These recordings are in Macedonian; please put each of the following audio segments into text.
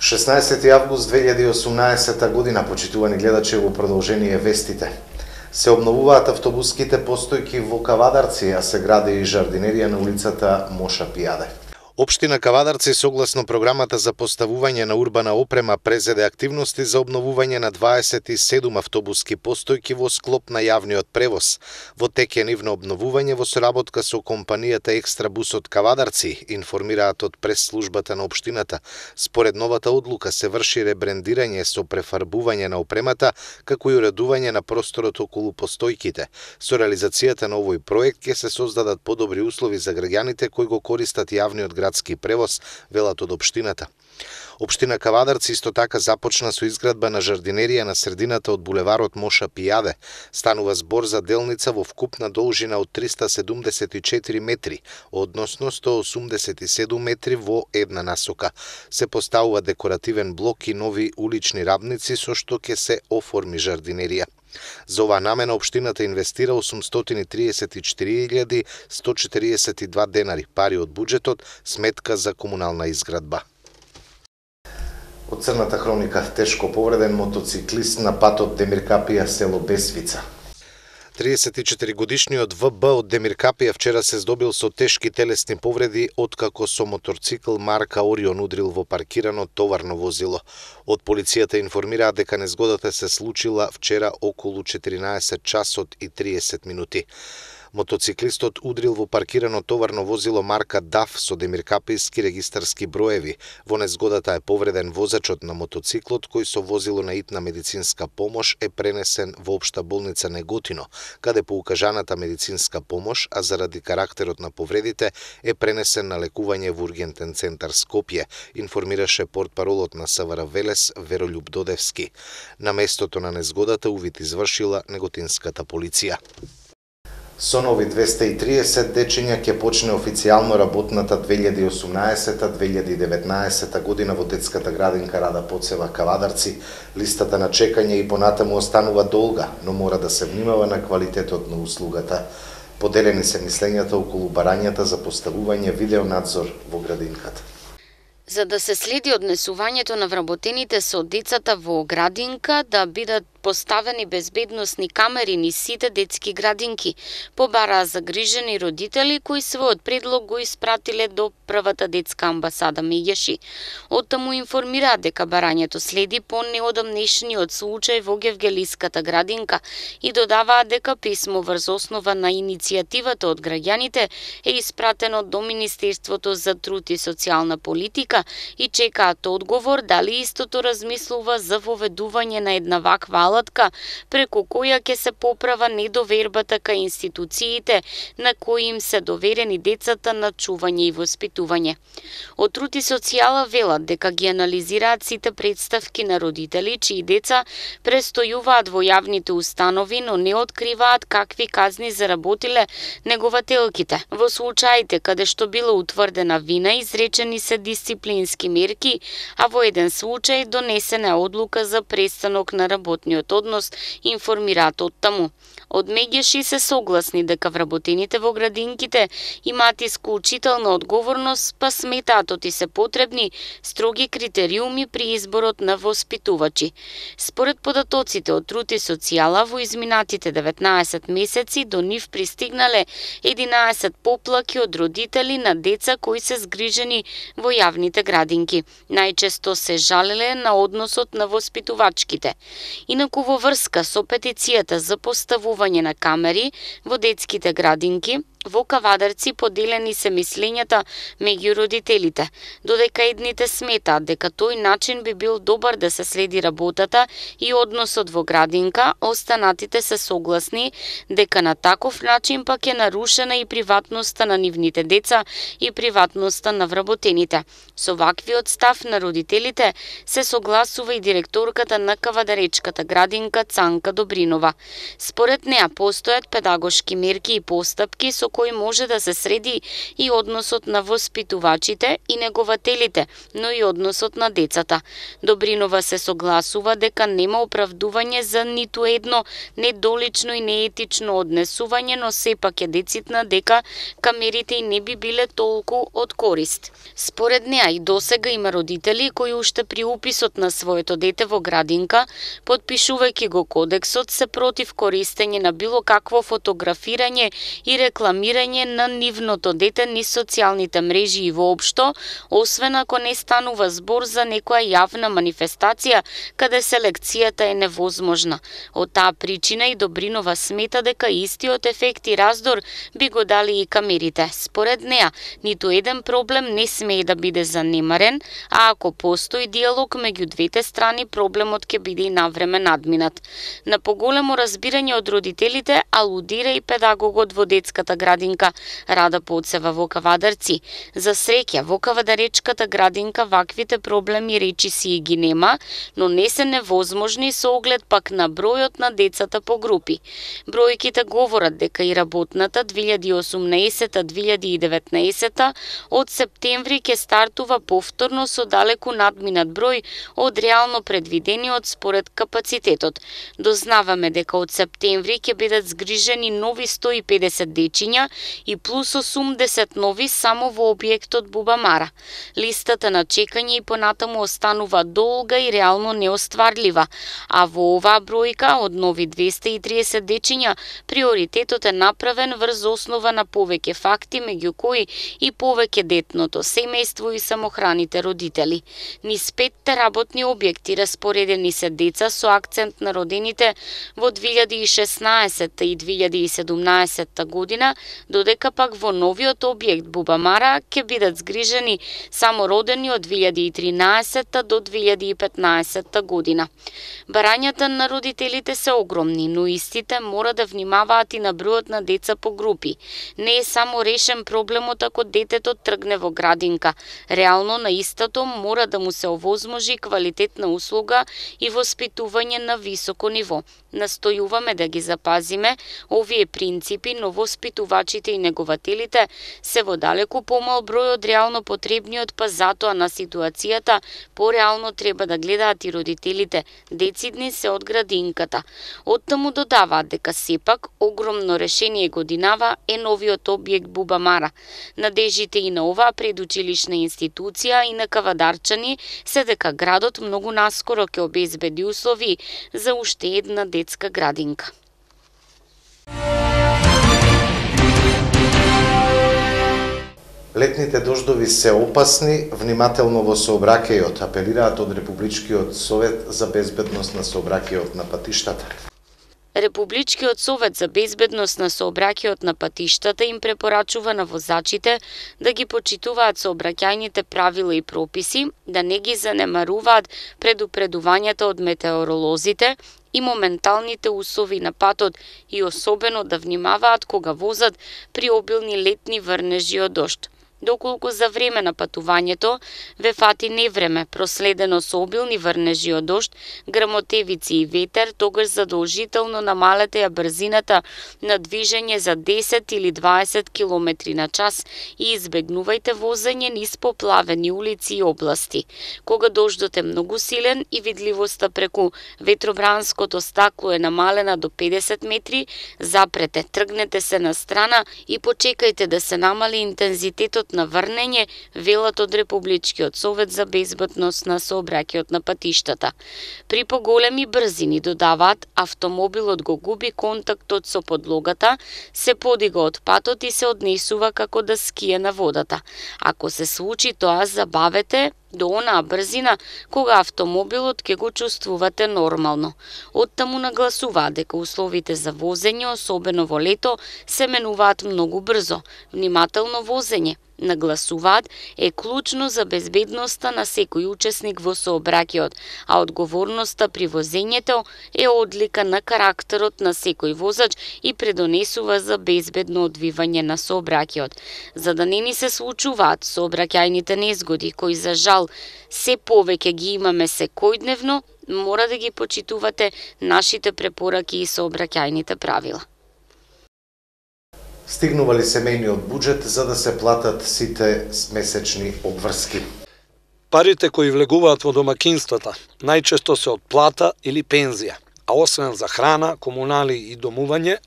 Шеснаесети август 2018 година, почитувани гледачи, во продолжение вестите. Се обновуваат автобуските постојки во Кавадарци, а се гради и жардинерија на улицата Моша Пијаде. Општина Кавадарци, согласно програмата за поставување на урбана опрема, презеде активности за обновување на 27 автобуски постојки во склоп на јавниот превоз. Во тек е нивно обновување во соработка со компанијата Екстрабус од Кавадарци, информираат од прес-службата на општината. Според новата одлука се врши ребрендирање со префарбување на опремата, како и уредување на просторот околу постојките. Со реализацијата на овој проект ќе се создадат подобри услови за граѓаните кои го користат јавниот градски превоз, велат од општината. Општина Кавадарци исто така започна со изградба на жардинерија на средината од булеварот Моша Пијаде. Станува збор за делница во вкупна должина од 374 метри, односно 187 метри во една насока. Се поставува декоративен блок и нови улични рабници со што ќе се оформи жардинерија. За оваа намена општината инвестира 834.142 денари, пари од буџетот, сметка за комунална изградба. Од црната хроника, тешко повреден мотоциклист на патот Демиркапија, село Бесвица. 34-годишниот ВБ од Демиркапија вчера се здобил со тешки телесни повреди откако со моторцикл марка Орион удрил во паркирано товарно возило. Од полицијата информираат дека незгодата се случила вчера околу 14 часот и 30 минути. Мотоциклистот удрил во паркирано товарно возило марка ДАФ со демиркапијски регистарски броеви. Во незгодата е повреден возачот на мотоциклот, кој со возило на итна медицинска помош е пренесен во општа болница Неготино, каде по укажаната медицинска помош, а заради карактерот на повредите е пренесен на лекување во ургентен центар Скопје, информираше портпаролот на СВР Велес Веролјуб Додевски. На местото на незгодата увид извршила неготинската полиција. Со нови 230 дечиња ќе почне официјално работната 2018-2019 година во детската градинка Рада Поцева Кавадарци. Листата на чекање и понатаму останува долга, но мора да се внимава на квалитетот на услугата. Поделени се мислењата околу барањата за поставување видеонадзор во градинката. За да се следи однесувањето на вработените со децата во градинка, да бидат поставени безбедносни камери низ сите детски градинки, побараа загрижени родители кои својот предлог го испратиле до првата детска амбасада Меѓеши. Оттаму информираат дека барањето следи по неодамнешниот случај во Гевгелиската градинка и додаваат дека писмо врз основа на иницијативата од граѓаните е испратено до Министерството за труд и социјална политика и чекаат одговор дали истото размислува за воведување на една ваква алатка преку која ќе се поправа недовербата кај институциите на кои им се доверени децата на чување и воспитување. Од труд и социјала велат дека ги анализираат сите представки на родители чии деца престојуваат во јавните установи, но не откриваат какви казни заработиле негователките. Во случаите каде што била утврдена вина, изречени се дисциплински мерки, а во еден случај донесена е одлука за престанок на работниот однос, информираат оттаму. Од Меѓеши се согласни дека вработените во градинките имаат исклучителна одговорност, па сметаат оти се потребни строги критериуми при изборот на воспитувачи. Според податоците од труд и социјала, во изминатите 19 месеци до нив пристигнале 11 поплаки од родители на деца кои се згрижени во јавните градинки. Најчесто се жалеле на односот на воспитувачките. Инаку во врска со петицијата за поставување на камери во детските градинки, во Кавадарци поделени се мислењата меѓу родителите, додека едните сметаат дека тој начин би бил добар да се следи работата и односот во градинка, останатите се согласни дека на таков начин пак е нарушена и приватноста на нивните деца и приватноста на вработените. Со ваквиот став на родителите се согласува и директорката на Кавадаречката градинка Цанка Добринова. Според неа постојат педагошки мерки и постапки со кој може да се среди и односот на воспитувачите и негователите, но и односот на децата. Добринова се согласува дека нема оправдување за ниту едно недолично и неетично однесување, но сепак е децитна дека камерите и не би биле толку од корист. Според неа и досега има родители кои уште при уписот на своето дете во градинка, потпишувајќи го кодексот, се против користење на било какво фотографирање и рекламирање на нивното дете низ социјалните мрежи и воопшто, освен ако не станува збор за некоја јавна манифестација каде селекцијата е невозможна. Од таа причина и Добринова смета дека истиот ефект и раздор би го дали и камерите. Според неа, ниту еден проблем не смее да биде занемарен, а ако постои диалог меѓу двете страни, проблемот ќе биде и навреме надминат. На поголемо разбирање од родителите алудира и педагогот во детската градинка Рада Поцева во Кавадарци. За среќа, во Кавадаречката градинка ваквите проблеми речиси и ги нема, но не се невозможни со оглед пак на бројот на децата по групи. Бројките говорат дека и работната 2018-2019 од септември ќе стартува повторно со далеку надминат број од реално предвидениот според капацитетот. Дознаваме дека од септември ќе бидат згрижени нови 150 дечиња и плюс 80 нови само во објектот Бубамара. Листата на чекање и понатаму останува долга и реално неостварлива, а во оваа бројка од нови 230 дечиња приоритетот е направен врз основа на повеќе факти, меѓу кои и повеќе детното семејство и самохраните родители. Низ 5 работни објекти распоредени се деца со акцент на родените во 2016 и 2017 година, додека пак во новиот објект Бубамара ќе бидат згрижени само родени од 2013 до 2015 година. Барањата на родителите се огромни, но истите мора да внимаваат и на бројот на деца по групи. Не е само решен проблемот ако детето тргне во градинка. Реално на истото мора да му се овозможи квалитетна услуга и воспитување на високо ниво. Настојуваме да ги запазиме овие принципи, но воспитувачите и негователите се во далеку помал број од реално потребниот, па затоа на ситуацијата пореално треба да гледаат и родителите. Децидни се од градинката. Оттаму додаваат дека сепак огромно решение годинава е новиот објект Бубамара. Надежите и на оваа предучилишна институција и на кавадарчани се дека градот многу наскоро ќе обезбеди услови за уште една детска градинка. Летните дождови се опасни, внимателно во сообраќајот, апелираат од Републичкиот совет за безбедност на сообраќајот на патиштата. Републичкиот совет за безбедност на сообраќајот на патиштата им препорачува на возачите да ги почитуваат сообраќајните правила и прописи, да не ги занемаруваат предупредувањата од метеоролозите и моменталните услови на патот и особено да внимаваат кога возат при обилни летни врнежи од дожд. Доколку за време на патувањето ве фати невреме, проследено со обилни врнежи од дожд, грмотевици и ветер, тогаш задолжително намалете ја брзината на движење за 10 или 20 км на час и избегнувајте возење низ поплавени улици и области. Кога дождот е многу силен и видливоста преку ветробранското стакло е намалена до 50 метри, запрете, тргнете се на страна и почекајте да се намали интензитетот на врнење, велат од Републичкиот совет за безбедност на сообраќајот на патиштата. При поголеми брзини, додаваат, автомобилот го губи контактот со подлогата, се подига од патот и се однесува како да ские на водата. Ако се случи тоа, забавете до онаа брзина кога автомобилот ќе го чувствувате нормално. Оттаму нагласуваат дека условите за возење, особено во лето, се менуваат многу брзо. Внимателно возење, нагласуваат, е клучно за безбедноста на секој учесник во сообраќајот, а одговорноста при возењето е одлика на карактерот на секој возач и предонесува за безбедно одвивање на сообраќајот. За да не ни се случуваат сообраќајните незгоди, кои за жал се повеќе ги имаме секојдневно, мора да ги почитувате нашите препораки и сообраќајните правила. Стигнува ли семејниот буџет за да се платат сите месечни обврски? Парите кои влегуваат во домакинствата најчесто се од плата или пензија, а освен за храна, комунали и домување,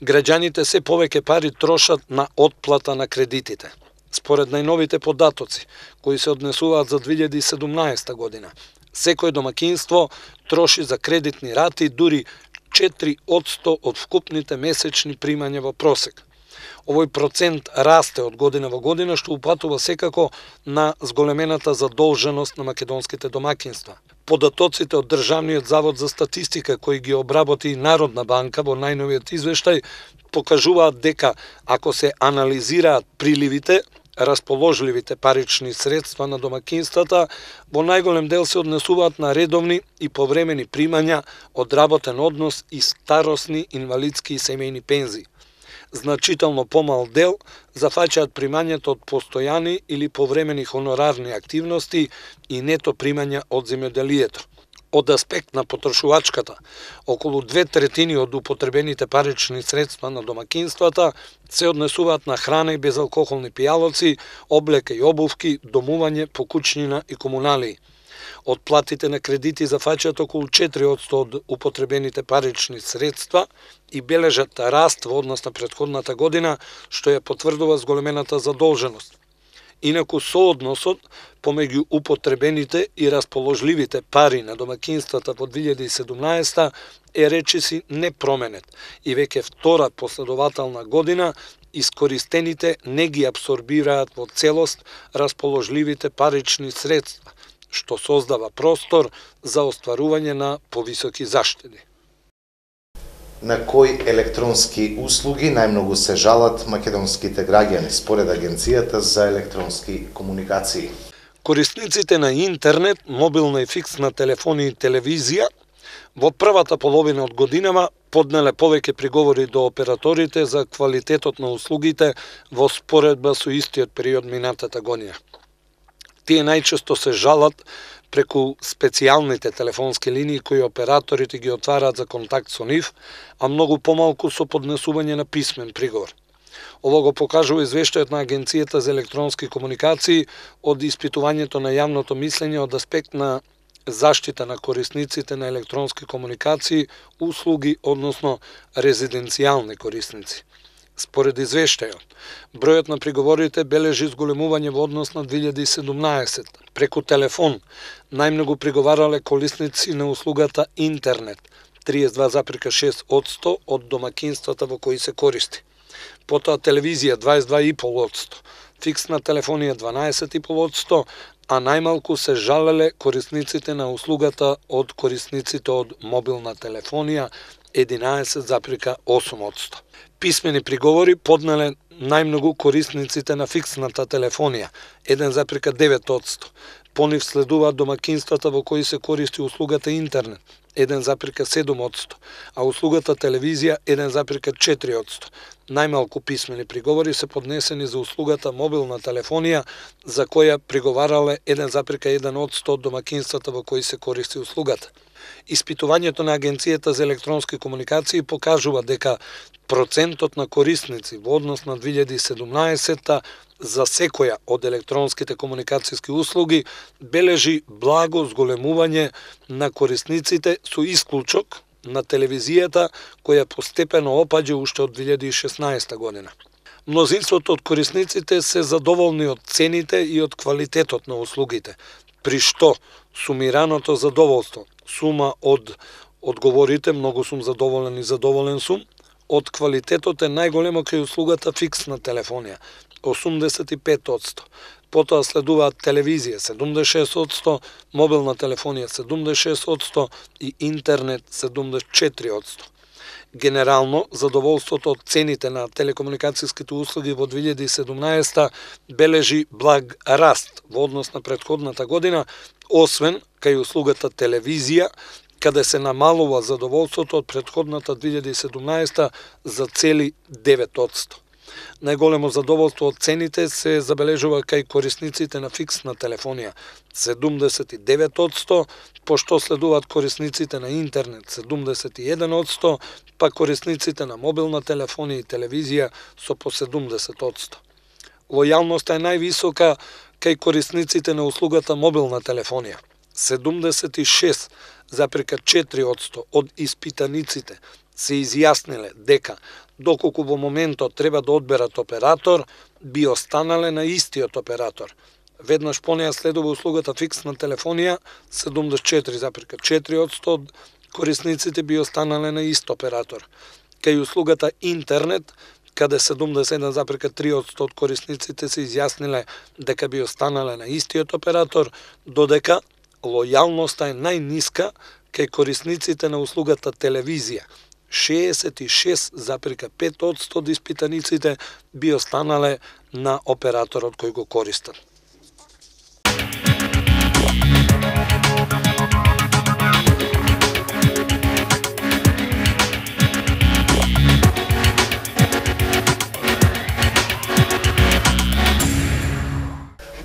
граѓаните се повеќе пари трошат на отплата на кредитите. Според најновите податоци, кои се однесуваат за 2017 година, секој домакинство троши за кредитни рати дури 4% од вкупните месечни примања во просек. Овој процент расте од година во година, што упатува секако на зголемената задолженост на македонските домакинства. Податоците од Државниот завод за статистика, кои ги обработи Народна банка во најновиот извештај, покажуваат дека ако се анализираат приливите, расположливите парични средства на домакинствата, во најголем дел се однесуваат на редовни и повремени примања од работен однос и старосни, инвалидски и семејни пензии. Значително помал дел зафаќаат примањето од постојани или повремени хонорарни активности и нето примања од земјоделието. Од аспект на потрошувачката, околу 2/3 од употребените парични средства на домакинствата се однесуваат на храна и безалкохолни пијалоци, облека и обувки, домување, покучнина и комуналии. Од платите на кредити зафаќаат околу 4% од употребените парични средства и бележат раст во однос на претходната година, што ја потврдува зголемената задолженост. Инаку соодносот помеѓу употребените и расположливите пари на домакинствата во 2017 е речиси непроменет и веќе втора последователна година искористените не ги апсорбираат во целост расположливите парични средства, што создава простор за остварување на повисоки заштеди. На кои електронски услуги најмногу се жалат македонските граѓани според Агенцијата за електронски комуникации? Корисниците на интернет, мобилна и фиксна телефонија и телевизија во првата половина од годинава поднеле повеќе приговори до операторите за квалитетот на услугите во споредба со истиот период минатата година. Тие најчесто се жалат преку специјалните телефонски линии кои операторите ги отвараат за контакт со нив, а многу помалку со поднесување на писмен приговор. Ово го покажува извештајот на Агенцијата за електронски комуникации од испитувањето на јавното мислење од аспект на заштита на корисниците на електронски комуникации, услуги, односно резиденцијални корисници. Според извештајот, бројот на приговорите бележи зголемување во однос на 2017. Преку телефон, најмногу приговарале корисници на услугата интернет, 32,6% од домакинствата во кои се користи. Потоа телевизија 22,5%, фиксна телефонија 12,5%, а најмалку се жалеле корисниците на услугата од корисниците од мобилна телефонија 11,8%. Писмени приговори поднеле најмногу корисниците на фиксната телефонија 1,9%. По нив следуваат домакинствата во кои се користи услугата интернет 1,7%, а услугата телевизија 1,4%. Најмалку писмени приговори се поднесени за услугата мобилна телефонија, за која приговарале 1,1% од домакинствата во кои се користи услугата. Испитувањето на Агенцијата за електронски комуникации покажува дека процентот на корисници во однос на 2017 за секоја од електронските комуникацијски услуги бележи благо зголемување на корисниците со исклучок на телевизијата која постепено опаѓа уште од 2016 година. Мнозинството од корисниците се задоволни од цените и од квалитетот на услугите, при што сумираното задоволство, сума од одговорите многу сум задоволен и задоволен сум, од квалитетот е најголемо кај услугата фиксна телефонија 85%. Потоа следуваат телевизија 76%, мобилна телефонија 76% и интернет 74%. Генерално, задоволството од цените на телекомуникацијските услуги во 2017 бележи благ раст во однос на претходната година, освен кај услугата телевизија, каде се намалува задоволството од претходната 2017 за цели 9%. Најголемо задоволство од цените се забележува кај корисниците на фиксна телефонија 79%, пошто следуваат корисниците на интернет 71%, па корисниците на мобилна телефонија и телевизија со по 70%. Лојалноста е највисока кај корисниците на услугата мобилна телефонија. 76,4% од испитаниците се изјасниле дека доколку во моментот треба да одберат оператор, би останале на истиот оператор. Веднаш по неја следува услугата фиксна телефонија, 74,4% од корисниците би останале на ист оператор. Кај услугата интернет, каде 71,3% од корисниците се изјасниле дека би останале на истиот оператор, додека лојалноста е најниска кај корисниците на услугата телевизија. 66,5% од испитаниците би останале на операторот кој го користат.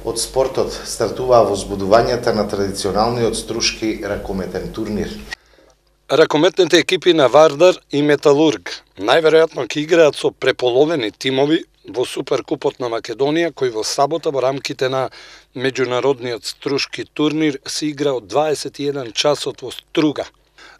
Од спортот стартуваа возбудувањата на традиционалниот струшки ракометен турнир. Ракометните екипи на Вардар и Металург најверојатно ќе играат со преполовени тимови во Суперкупот на Македонија, кој во сабота во рамките на меѓународниот струшки турнир се игра од 21 часот во Струга.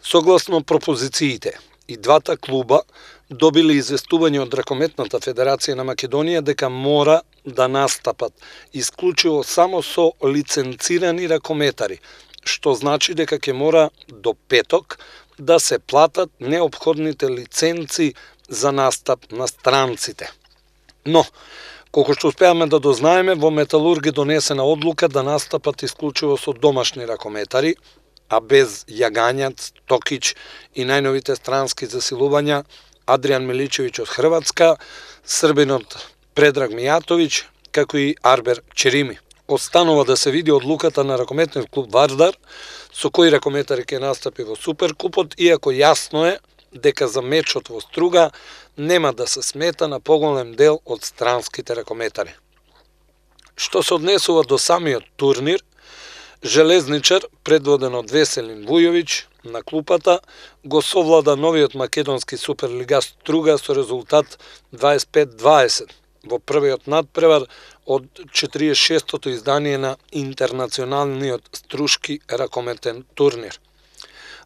Согласно пропозициите, и двата клуба добиле известување од Ракометната федерација на Македонија дека мора да настапат исклучиво само со лиценцирани ракометари, што значи дека ќе мора до петок да се платат неопходните лиценци за настап на странците. Но, колку што успеаме да дознаеме, во Металург е донесена одлука да настапат исклучиво со домашни ракометари, а без Јагањац, Токич и најновите странски засилувања Адријан Миличевиќ од Хрватска, србинот Предраг Мијатовиќ, како и Арбер Черими. Останува да се види одлуката на ракометниот клуб Вардар, со кои ракометари ќе настапи во Суперкупот, иако јасно е дека за мечот во Струга нема да се смета на поголем дел од странските ракометари. Што се однесува до самиот турнир, Железничар, предводен од Веселин Вујовиќ на клупата, го совлада новиот македонски суперлига Струга со резултат 25-20 во првиот надпревар од 46-тото издание на интернационалниот струшки ракометен турнир.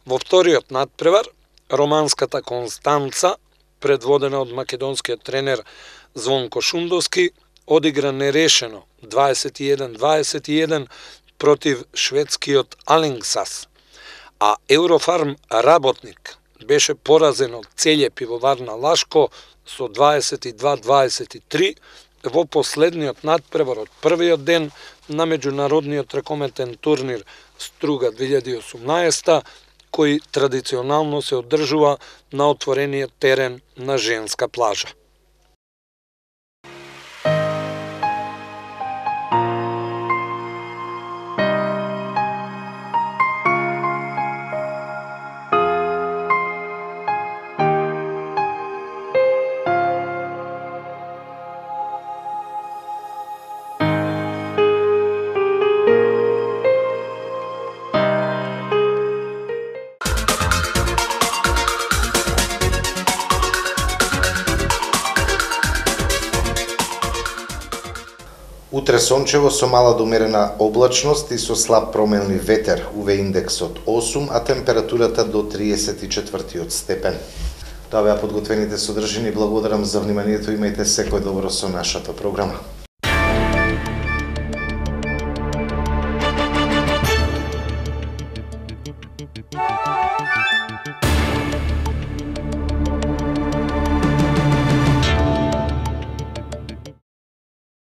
Во вториот надпревар, романската Констанца, предводена од македонскиот тренер Звонко Шундовски, одигра нерешено 21-21 против шведскиот Алингсас, а Еврофарм Работник беше поразен од Целје пивовар на Лашко со 22-23 во последниот надпревар од првиот ден на меѓународниот ракометен турнир Струга 2018, кој традиционално се одржува на отворениот терен на Женска плажа. Утре сончево со мала до умерена облачност и со слаб променлив ветер, УВ индексот 8, а температурата до 34 степен. Тоа беа подготвените содржини. Благодарам за вниманието. Имајте секој добро со нашата програма.